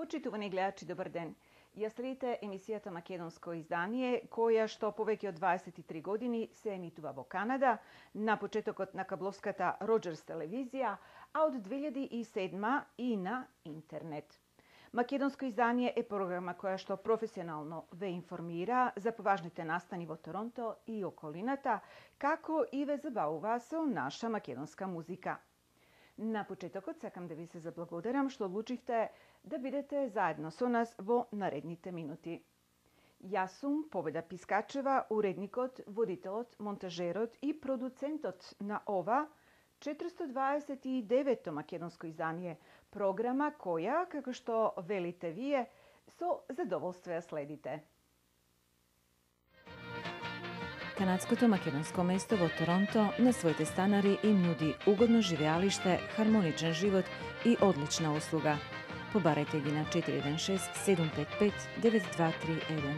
Почитувани гледачи, добар ден. Ја следите емисијата Македонско издание, која што повеќе од 23 години се емитува во Канада, на почетокот на кабловската Роџерс телевизија, а од 2007 и на интернет. Македонско издание е програма која што професионално ве информира за поважните настани во Торонто и околината, како и ве забавува со наша македонска музика. На почетокот сакам да ви се заблагодарам што одлучивте да бидете заедно со нас во наредните минути. Јас сум Победа Пискачева, уредникот, водителот, монтажерот и продуцентот на ова 429-то македонско издание, програма која, како што велите вие, со задоволство ја следите. Канадското македонско место во Торонто на своите станари им нуди угодно живеалиште, хармоничен живот и одлична услуга. Побарајте ги на 416-755-9231.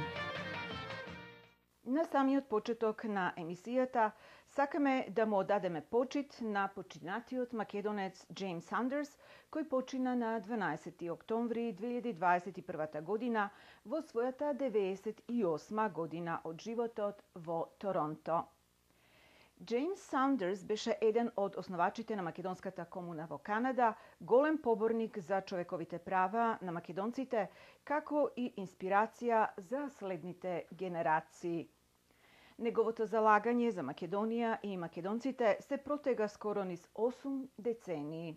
На самиот почеток на емисијата сакаме да му одадеме почит на починатиот македонец Джеймс Сандерс, кој почина на 12 октомври 2021 година во својата 98 година од животот во Торонто. Джеймс Сандерс беше еден од основачите на македонската комуна во Канада, голем поборник за човековите права на македонците, како и инспирација за следните генерации. Неговото залагање за Македонија и македонците се протега скоро низ 8 децении.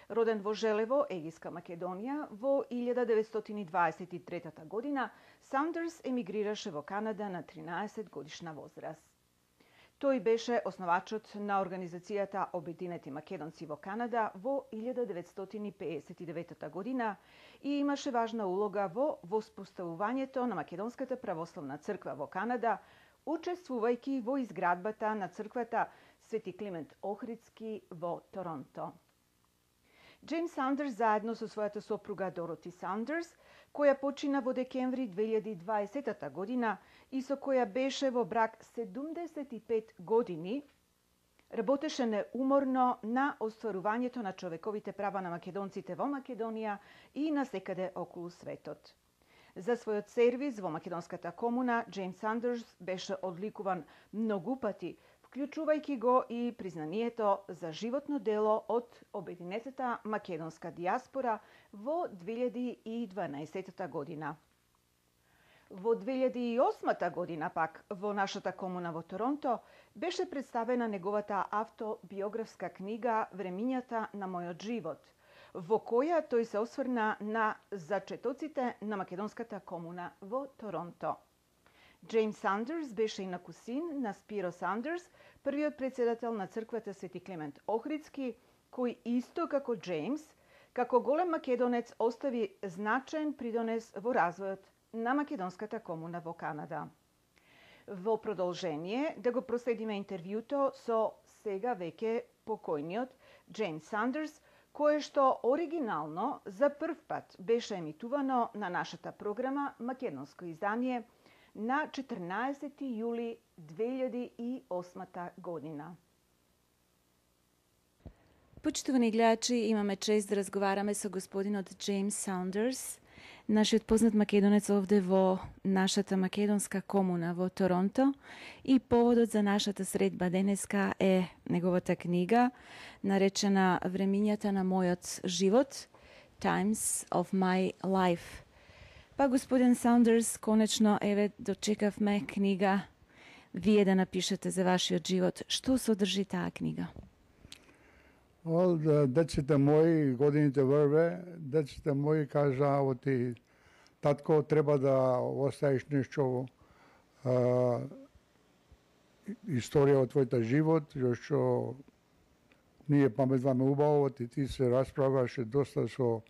Роден во Желево, Егиска Македонија, во 1923 година, Сандерс емигрираше во Канада на 13 годишна возраст. Тој беше основачот на организацијата Обединети македонци во Канада во 1959 година и имаше важна улога во воспоставувањето на Македонската православна црква во Канада, учествувајќи во изградбата на црквата Свети Климент Охридски во Торонто. Джеймс Сандерс заедно со својата сопруга Дороти Сандерс, која почина во декември 2020 година и со која беше во брак 75 години, работеше неуморно на остварувањето на човековите права на македонците во Македонија и насекаде околу светот. За својот сервис во македонската комуна, Джеймс Сандерс беше одликуван многу пати, вклучувајќи го и признанието за животно дело од Обединетата македонска диаспора во 2012 година. Во 2008 година пак во нашата комуна во Торонто беше представена неговата автобиографска книга Времињата на мојот живот, во која тој се осврна на зачетоците на македонската комуна во Торонто. Джеймс Сандерс беше инаку син на Спиро Сандерс, првиот председател на црквата Свети Климент Охридски, кој исто како Джеймс, како голем македонец остави значаен придонес во развојот на македонската комуна во Канада. Во продолжение да го проследиме интервјуто со сега веќе покојниот Джеймс Сандерс, кое што оригинално за прв пат беше емитувано на нашата програма Македонско издание на 14 јули 2008 година. Почитувани гледачи, имаме чест да разговараме со господинот Джеймс Сандерс, нашиот познат македонец овде во нашата македонска комуна во Торонто, и поводот за нашата средба денеска е неговата книга, наречена Времињата на мојот живот, Times of my life. Па, господин Сандерс, конечно, еве, дочекавме книга вие да напишете за вашиот живот. Што содржи таа книга? Деците мои, годините врве, деците мои кажа, оти, татко, треба да оставиш нешто историја од твојата живот, што ние паметваме убаво, ти се расправаше доста со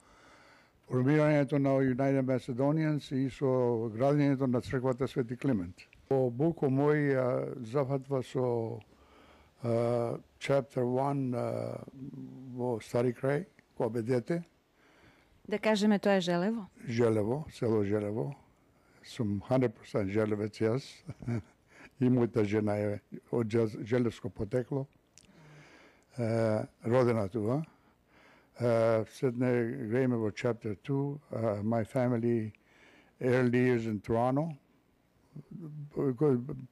формирањето на United Macedonians и со градењето на црквата Свети Климент. Во буко мој зафатва со chapter 1 во Стари крај, кога бе дете. Да кажеме, тоа е Желево? Желево, село Желево. Сум 100% желевец јас. И мојата жена е од желевско потекло. Родена тука. Седне грееме во chapter 2, my family early years in Toronto,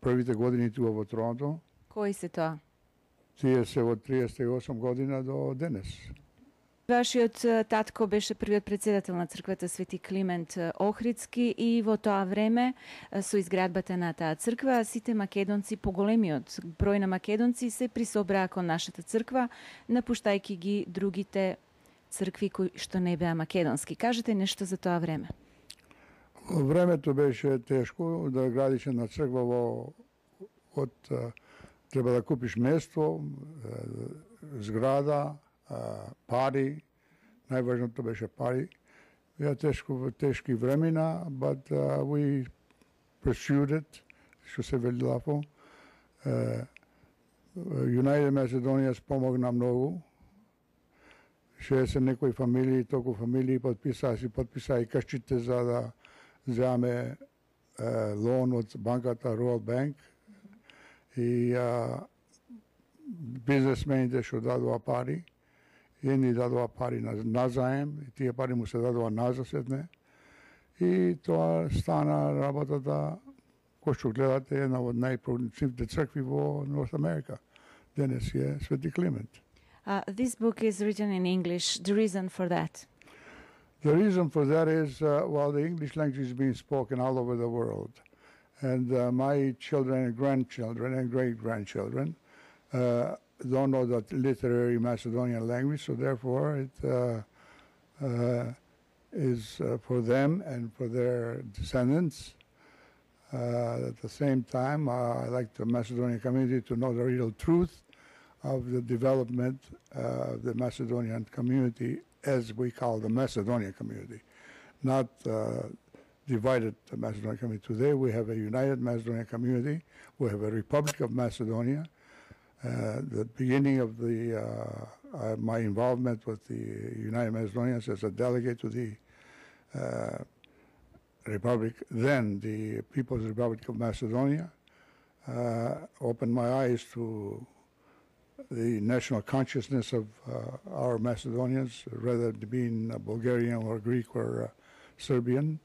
првите години тука во Торонто, Кои се тоа? тие се од 38 година до денес. Вашиот татко беше првиот председател на црквата Свети Климент Охридски и во тоа време со изградбата на таа црква сите македонци, поголемиот број на македонци се присобраа кон нашата црква, напуштајќи ги другите цркви кои што не беа македонски. Кажете нешто за тоа време. Во времето беше тешко да градиш една црква треба да купиш место, зграда, пари, најважното беше пари. Беа тешки времена, but we pursued it, што се вели лафо. United Macedonia помогна многу. 60 некои фамилии, толку фамилии подписаа и кашчите за да земе лон од банката Royal Bank и бизнесмените што дадоа пари. Едни дадоа пари на заем, и тие пари му се дадоа назад сетне. И тоа стана работата, кој што гледате, една од најпродуктивните цркви во North America. Денес е Свети Климент. This book is written in English. The reason for that? The reason for that is, well, the English language is being spoken all over the world. And my children and grandchildren and great-grandchildren don't know that literary Macedonian language, so therefore it is for them and for their descendants. At the same time, I like the Macedonian community to know the real truth of the development of the Macedonian community, as we call the Macedonian community, not divided the Macedonian community. Today we have a united Macedonian community. We have a Republic of Macedonia. The beginning of my involvement with the United Macedonians as a delegate to the Republic, then the People's Republic of Macedonia, opened my eyes to the national consciousness of our Macedonians, rather than being Bulgarian or Greek or Serbian.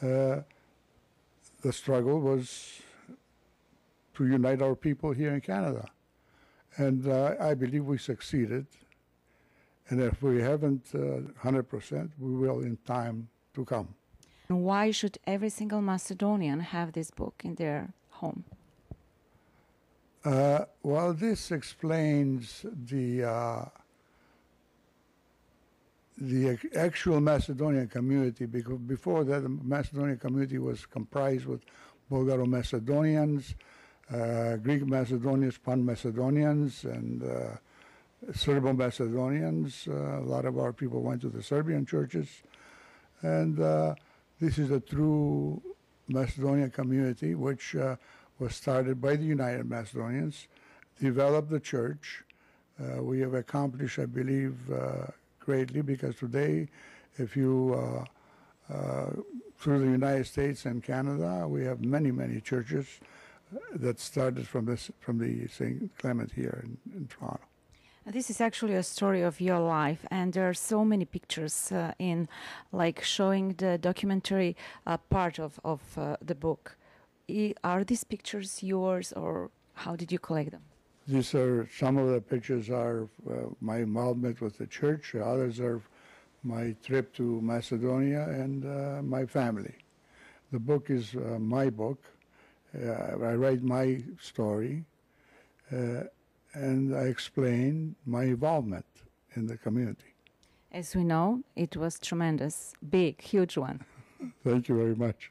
The struggle was to unite our people here in Canada. And I believe we succeeded. And if we haven't 100%, we will in time to come. Why should every single Macedonian have this book in their home? Well, this explains the actual Macedonian community, because before that, the Macedonian community was comprised with Bulgaro-Macedonians, Greek Macedonians, Pan-Macedonians, and Serbo-Macedonians. A lot of our people went to the Serbian churches. And this is a true Macedonian community, which was started by the United Macedonians, developed the church. We have accomplished, I believe, greatly, because today, if you, through the United States and Canada, we have many, many churches that started from the St. Clement here in Toronto. This is actually a story of your life, and there are so many pictures in, like, showing the documentary part of the book. Are these pictures yours, or how did you collect them? These are, some of the pictures are my involvement with the church. Others are my trip to Macedonia and my family. The book is my book. I write my story, and I explain my involvement in the community. As we know, it was tremendous, big, huge one. Thank you very much.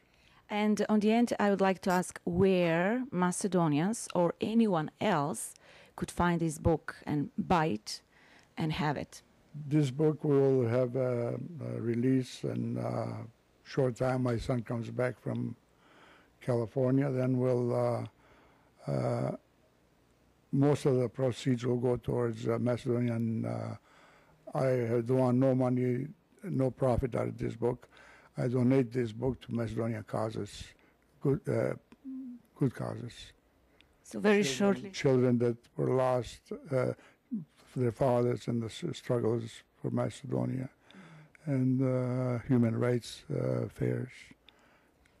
And on the end, I would like to ask where Macedonians or anyone else could find this book and buy it and have it. This book will have a release in a short time. My son comes back from California. Then we'll, most of the proceeds will go towards Macedonian. I don't want no money, no profit out of this book. I donate this book to Macedonian causes, good causes. So very shortly. Children that were lost, their fathers, and the struggles for Macedonia and human rights fairs.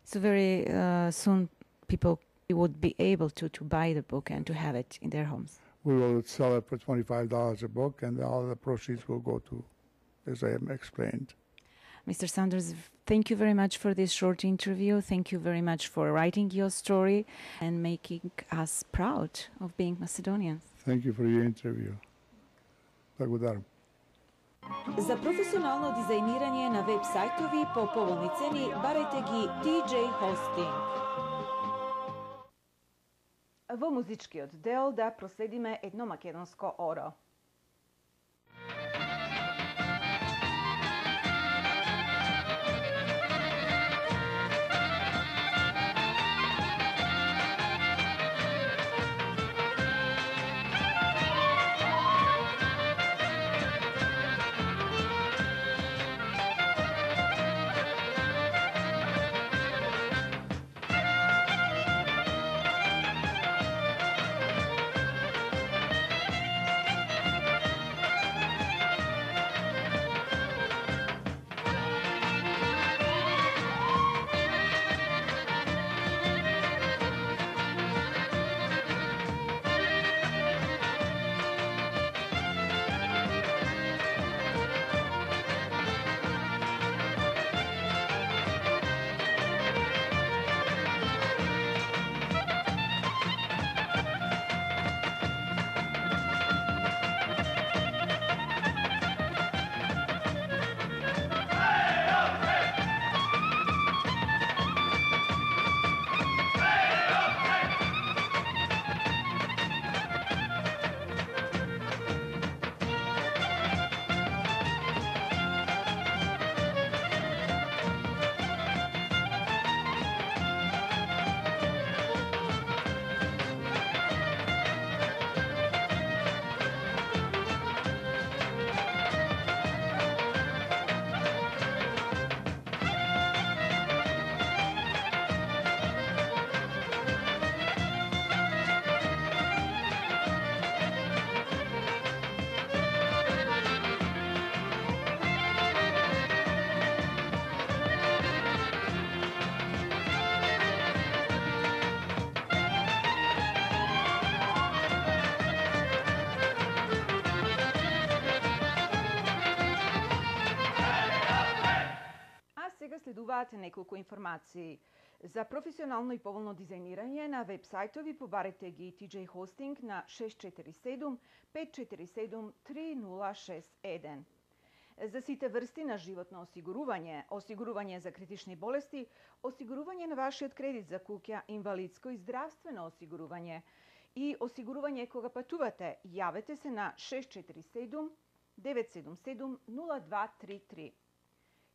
So very soon people would be able to buy the book and to have it in their homes. We will sell it for $25 a book, and all the proceeds will go to, as I explained. Mr. Saunders, thank you very much for this short interview. Thank you very much for writing your story and making us proud of being Macedonians. Thank you for your interview. Благодарам. За професионално дизајнирање на веб сајтови по поволни цени барајте ги TJ Hosting. Во музичкиот дел да проследиме едно македонско оро. Следуваат неколку информации. За професионално и поволно дизајнирање на веб сајтови побарете ги TJ Hosting на 647 547 3061. За сите врсти на животно осигурување, осигурување за критични болести, осигурување на вашиот кредит за куќа, инвалидско и здравствено осигурување и осигурување кога патувате, јавете се на 647 977 0233.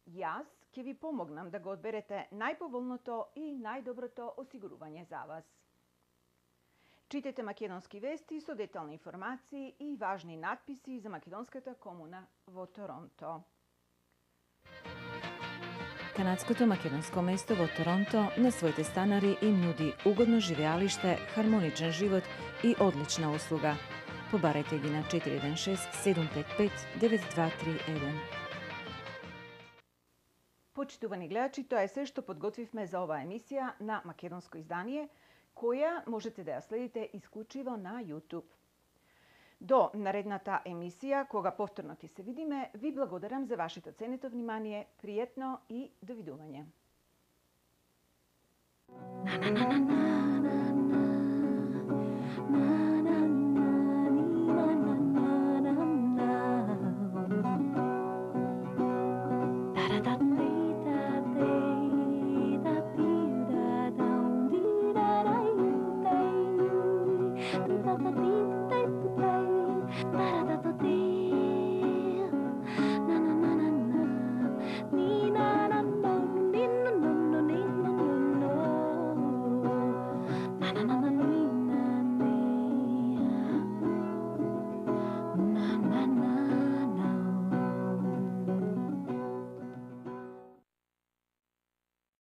Јас ќе ви помогнам да го одберете најповолното и најдоброто осигурување за вас. Читете македонски вести со детални информации и важни надписи за македонската комуна во Торонто. Канадското македонско место во Торонто на своите станари им нуди угодно живеалиште, хармоничен живот и одлична услуга. Побарете ги на 416 755 9231. Почитувани гледачи, тоа е се што подготвивме за оваа емисија на македонско издание, која можете да ја следите исклучиво на YouTube. До наредната емисија, кога повторно ти се видиме, ви благодарам за вашето ценето внимание, пријатно и довидување. Na